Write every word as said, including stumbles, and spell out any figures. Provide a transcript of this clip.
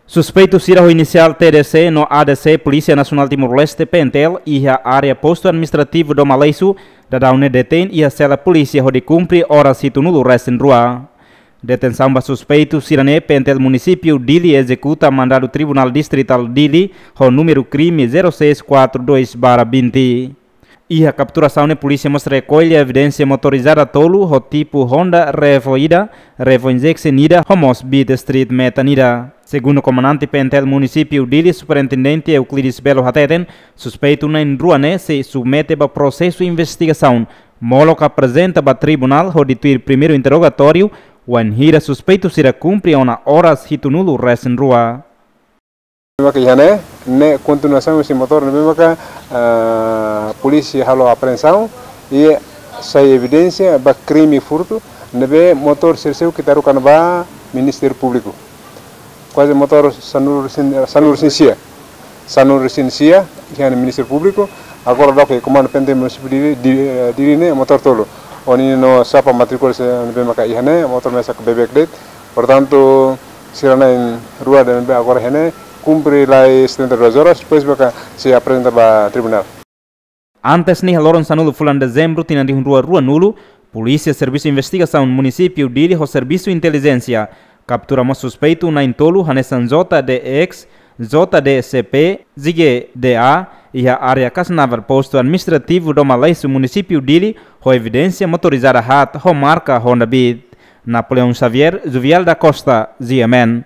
Suspeitu sira ho inisiál T D C no A D C Polísia Nasionál Timor-Leste, P N T L, iha área Postu Administrativu Doma Leisu, daudaun ne'e detein iha sela polísia hodi kumpre oras hitunulu resin rua. Detensaun ba suspeitu sira-ne'e, P N T L Munisípiu Dili ezekuta mandadu Tribunál Distritál Dili ho númeru krime zero seis quatro dois barra vinte. Iha kapturasaun ne'e, polísia mós rekolle evidénsia motorizada tolu ho tipu Honda Revo ida, Revo Injection ida, ho mós Beat Street Metan ida. Segundu komandante P N T L Munisípiu Dili, Superintendente Euclides Belo hateten, suspeitu na'in-rua ne'e sei submete ba prosesu investigasaun, molok aprezenta ba tribunál hodi tuir primeiru interrogatóriu, wainhira suspeitu sira kumpre ona oras hitunulu resin rua. Maka iha ne'e, ne'e kontinuasaun husi motór ne'ebé maka, ah, polísia halo apreensaun, i sai evidénsia ba krime furtu, ne'ebé motór sira seluk ita haruka ona ba Ministériu Públiku. Kuaze motór sanulu resin, sanulu resin sia. Sanulu resin sia, iha ne'e Ministériu Públiku, agora daudauk Komandu P N T L Munisípiu Dili, Dili, eh, Dili ne'e motór tolu. Ho ninin no xapa matríkula sira ne'ebé maka iha ne'e, motór mesak beibeik de'it. Portantu, sira na'in-rua ne'ebé agora iha ne'e, kumpre lai setenta e duas horas, depois maka sei aprezenta ba tribunál. Antes ne'e, iha loron sanulu fulan Dezembru tinan rihun rua ruanulu, Polísia Servisu Investigasaun Munisípiu Dili ho Servisu Intelijénsia kaptura mós suspeitu na'in-tolu hanesan J D X, J D C P, Zige D A, iha área Kasnavar, Postu Administrativu Doma Leisu, Munisípiu Dili, ho evidénsia motorizada haat ho marka Honda Beat. Napoleão Xavier, Juvial da Costa, G M N.